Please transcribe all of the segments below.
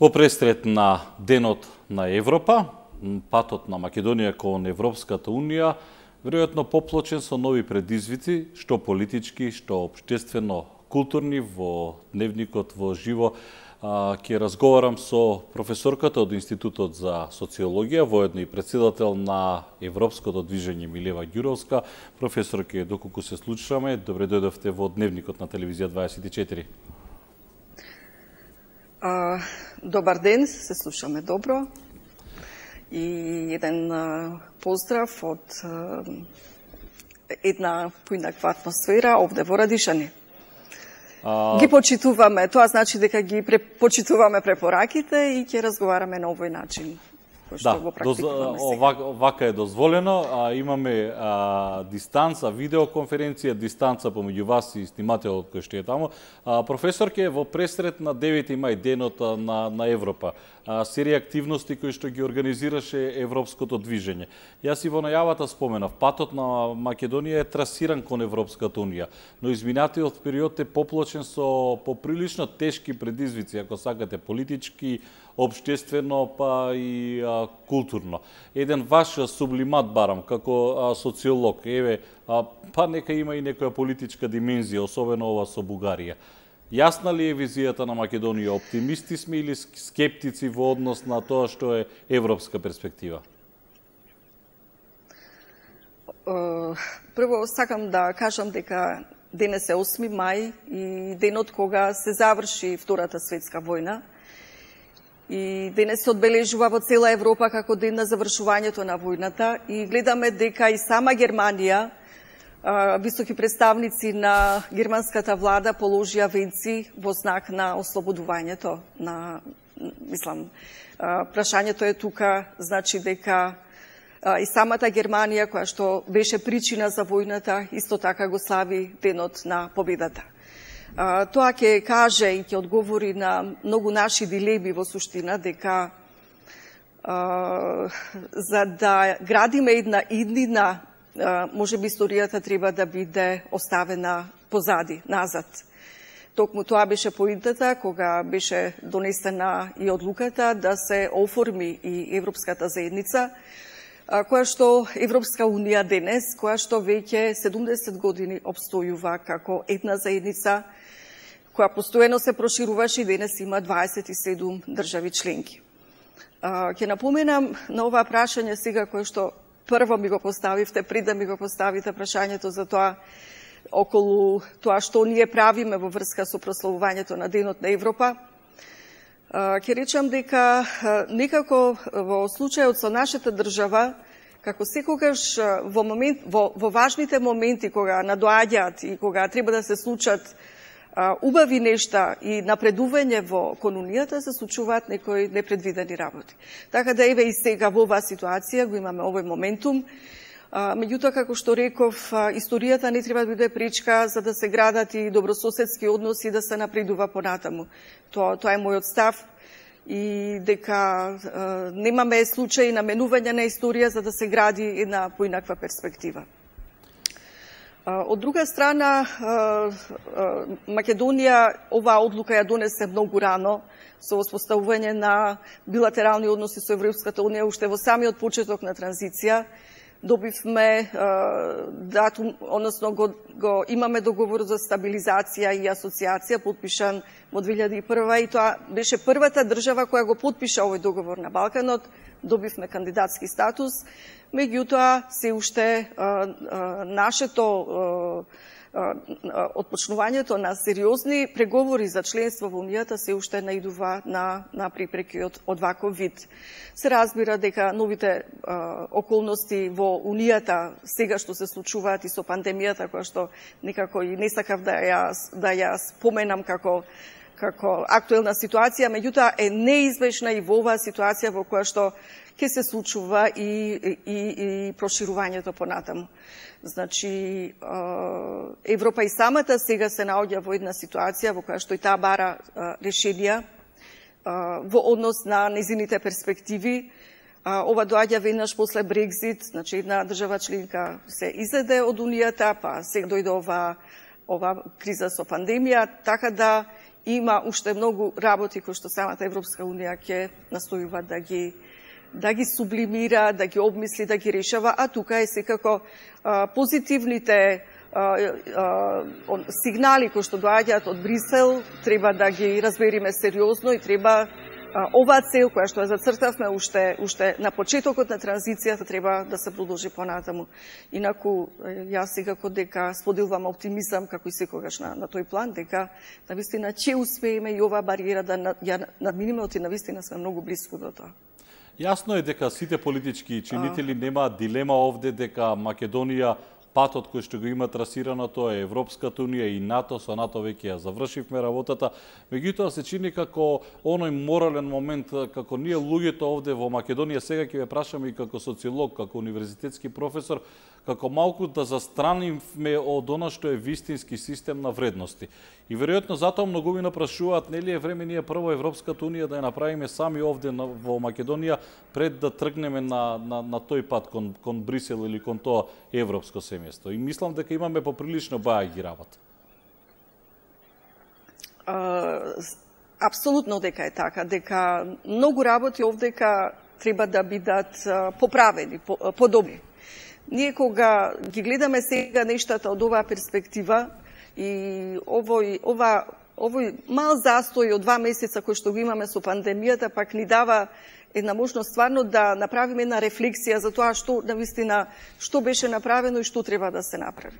Во престрет на Денот на Европа, патот на Македонија кон Европската Унија веројатно поплочен со нови предизвици, што политички, што општествено културни. Во дневникот во живо ќе разговарам со професорката од Институтот за социологија, воедно и претседател на Европското движење Милева Ѓуровска. Професорке, доколку се слушаме, добре дојдовте во Дневникот на Телевизија 24. Добар ден, се слушаме добро. И еден поздрав од една поинаква атмосфера овде во Радишани. Ги почитуваме, тоа значи дека ги почитуваме препораките и ќе разговараме на овој начин. Вака е дозволено. Имаме дистанца, видеоконференција, дистанца помеѓу вас и снимателот кој што е таму. Професорке, во пресрет на 9 мај, денот на Европа, серија активности кои што ги организираше Европското движење. Јас и во најавата споменав, патот на Македонија е трасиран кон Европската Унија, но изминатиот период е поплочен со поприлично тешки предизвици, ако сакате, политички, општествено, па и културно. Еден ваш сублимат барам, како социолог, па нека има и некоја политичка димензија, особено ова со Бугарија. Јасна ли е визијата на Македонија? Оптимисти сме или скептици во однос на тоа што е европска перспектива? Прво сакам да кажам дека денес е 8 мај и денот кога се заврши Втората светска војна. И денес се одбележува во цела Европа како ден на завршувањето на војната и гледаме дека и сама Германија, високи представници на германската влада положија венци во знак на ослободувањето на, прашањето е тука, значи дека и самата Германија, која што беше причина за војната, исто така го слави денот на победата. Тоа ќе каже и ќе одговори на многу наши дилеми во суштина, дека за да градиме една иднина, може би историјата треба да биде оставена позади, назад. Токму тоа беше поинтата кога беше донесена и одлуката да се оформи и Европската заедница, која што Европска Унија денес, која што веќе 70 години обстојува како една заедница, која постојано се прошируваше и денес има 27 држави членки. Ќе напоменам на ова прашање сега кое што прво ми го поставивте, пред да ми го поставите прашањето за тоа околу тоа што ние правиме во врска со прославувањето на Денот на Европа. Ќе речам дека некако во случајот со нашата држава, како секогаш во важните моменти кога надоаѓаат и кога треба да се случат убави нешта и напредување кон Унијата, се случуваат некои непредвидени работи. Така да еве и сега во оваа ситуација го имаме овој моментум. Меѓутоа, како што реков, историјата не треба да биде пречка за да се градат и добрососедски односи и да се напредува понатаму. Тоа е мојот став и дека немаме случаи на менување на историја за да се гради една поинаква перспектива. Од друга страна, Македонија оваа одлука ја донесе многу рано со воспоставување на билатерални односи со Европската Унија уште во самиот почеток на транзиција. Добивме датум, односно го имаме договор за стабилизација и асоциација подпишан во 2001 и тоа беше првата држава која го подпиша овој договор на Балканот. Добивме кандидатски статус, меѓутоа се уште нашето отпочнувањето на сериозни преговори за членство во Унијата се уште наидува на препреки од ваков вид. Се разбира дека новите околности во Унијата сега што се случуваат и со пандемијата, која што некако и не сакав да ја споменам како актуелна ситуација, меѓутоа е неизбежна и во оваа ситуација во која што ќе се случува и проширувањето понатаму. Значи, Европа и самата сега се наоѓа во една ситуација во која што и таа бара решенија во однос на незините перспективи. Ова доаѓа веднаш после Брекзит, значи една држава членка се изеде од Унијата, па сега дојде ова криза со пандемија, така да има уште многу работи кои што самата Европска Унија ќе настојува да ги сублимира, да ги обмисли, да ги решава, а тука е секако позитивните сигнали кои што доаѓаат од Брисел треба да ги разбериме сериозно и треба оваа цел која што ја зацртавме уште на почетокот на транзицијата треба да се продолжи понатаму. Инаку јас секако дека споделувам оптимизам како и секогаш на тој план дека навистина ќе успееме и оваа бариера да ја надминеме, оти навистина сме многу близко до тоа. Јасно е дека сите политички чинители немаат дилема овде дека Македонија патот кој што го има трасирано, тоа е Европската Унија и НАТО, со НАТО веќе ја завршивме работата. Меѓутоа се чини како оној морален момент, како ние луѓето овде во Македонија, сега ќе ве прашаме и како социолог, како универзитетски професор, како малку да застраниме од она што е вистински систем на вредности. И веројатно затоа многумина прашуваат, нели е време ние прво Европската Унија да ја направиме сами овде во Македонија пред да тргнеме на тој пат кон Брисел или кон тоа европско семејство. И мислам дека имаме поприлично баја ги работа. Апсолутно дека е така, дека многу работи овдека треба да бидат поправени, подобри. Ние кога ги гледаме сега нештата од оваа перспектива и овој мал застој од 2 месеца кој што го имаме со пандемијата, пак ни дава една можност стварно да направиме една рефлексија за тоа што беше направено и што треба да се направи.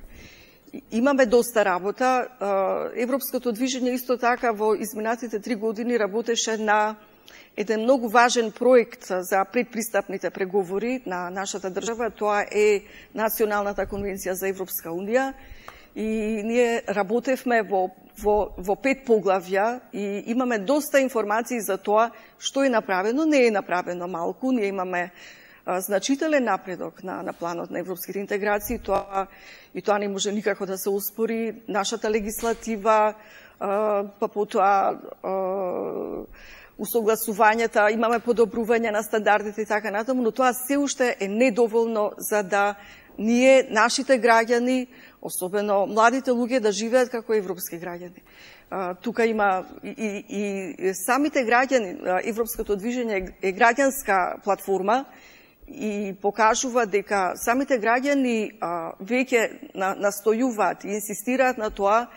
Имаме доста работа. Европското движење исто така во изминатите 3 години работеше на еден многу важен проект за предпристапните преговори на нашата држава. Тоа е Националната конвенција за Европска Унија. И ние работевме во 5 поглавја и имаме доста информации за тоа што е направено. Не е направено малку. Ние имаме значителен напредок на планот на европските интеграции. Тоа не може никако да се успори. Нашата легислатива, па потоа усогласувањата, имаме подобрување на стандардите и така натаму, но тоа се уште е недоволно за да ние, нашите граѓани, особено младите луѓе, да живеат како европски граѓани. Тука има и самите граѓани, Европското движење е граѓанска платформа и покажува дека самите граѓани веќе настојуваат и инсистираат на тоа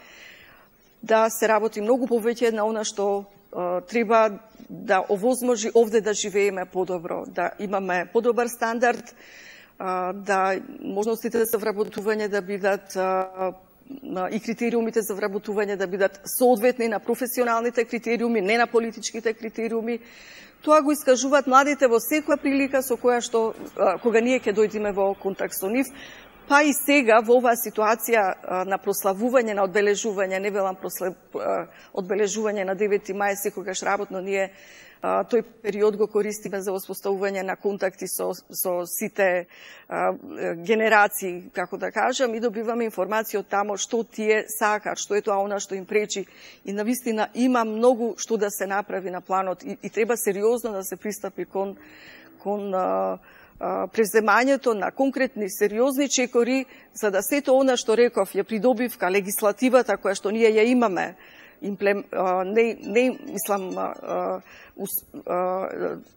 да се работи многу повеќе на она што треба да овозможи овде да живееме подобро, да имаме подобар стандард, да можностите за вработување да бидат и критериумите за вработување да бидат соодветни на професионалните критериуми, не на политичките критериуми. Тоа го искажуваат младите во секоја прилика со која што кога ние ќе дојдеме во контакт со нив. Па и сега во оваа ситуација на прославување, на одбележување, не велам одбележување на 9 мај, секогаш работно ние тој период го користиме за воспоставување на контакти со сите генерации, како да кажам, и добиваме информација од тамо што тие сакаат, што е тоа она што им пречи. И навистина има многу што да се направи на планот и треба сериозно да се пристапи кон преземањето на конкретни сериозни чекори, за да сето она што реков ја придобивка легислативата која што ние ја имаме,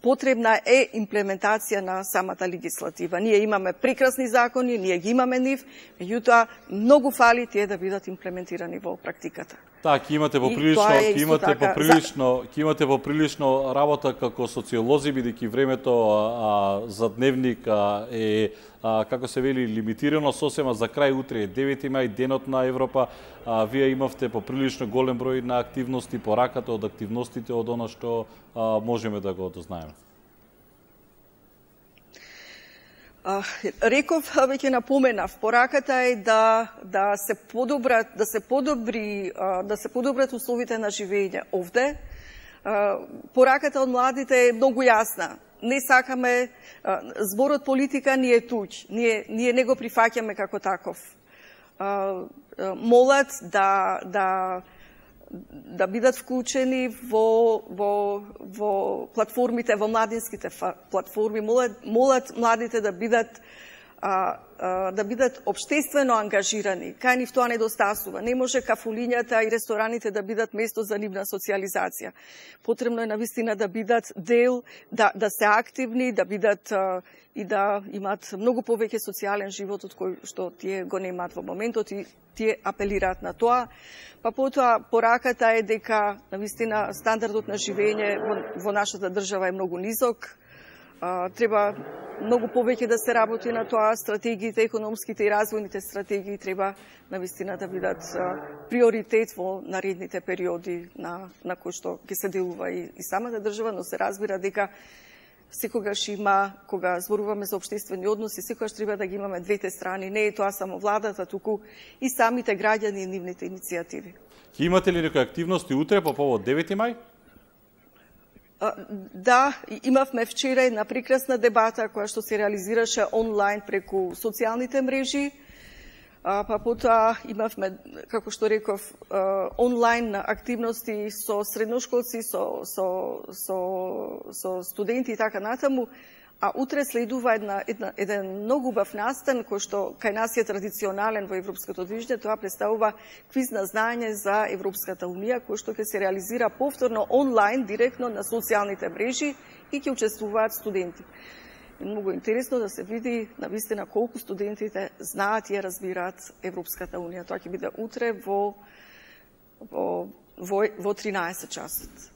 потребна е имплементација на самата легислатива. Ние имаме прекрасни закони, ние ги имаме нив, меѓутоа многу фали тие да бидат имплементирани во практиката. Ќе имате поприлично работа како социолози, бидејќи времето за дневник е, како се вели, лимитирано сосема. За крај утре е 9 мај, денот на Европа. Вие имавте поприлично голем број на активности, пораката од активностите од она што можеме да го дознаеме. Реков, веќе напоменав, пораката е да се подобрат условите на живење овде. Пораката од младите е многу јасна. Не сакаме, зборот политика ни е туѓ. Ние не го прифаќаме како таков. Молат да бидат вклучени во платформите, во младинските платформи, молат младите да бидат да бидат општествено ангажирани. Кај нив тоа недостасува. Не може кафулињата и рестораните да бидат место за нивна социјализација. Потребно е навистина да бидат дел, да се активни, да бидат и да имаат многу повеќе социјален живот од кој што тие го немаат во моментот и тие апелираат на тоа. Па потоа пораката е дека навистина стандардот на живење во нашата држава е многу низок. Треба многу повеќе да се работи на тоа, стратегиите, економските и развојните стратегии треба навистина да бидат приоритет во наредните периоди на кои што ќе се делува и самата држава, но се разбира дека секогаш има, кога зборуваме за општествени односи, секогаш треба да ги имаме двете страни. Не е тоа само владата, туку и самите граѓани и нивните иницијативи. Ќе имате ли некои активности утре по повод 9 мај? Да, имавме вчера една прекрасна дебата која што се реализираше онлайн преку социјалните мрежи. Па потоа имавме, како што реков, онлайн активности со средношколци, со студенти и така натаму. А утре следува еден многу убав настан кој што кај нас е традиционален во европското движење. Тоа представува квиз на знаење за Европската унија, кој што ќе се реализира повторно онлайн, директно на социјалните мрежи и ќе учествуваат студенти. И многу интересно да се види навистина колку студентите знаат и разбираат Европската унија. Тоа ќе биде утре во 13 часот.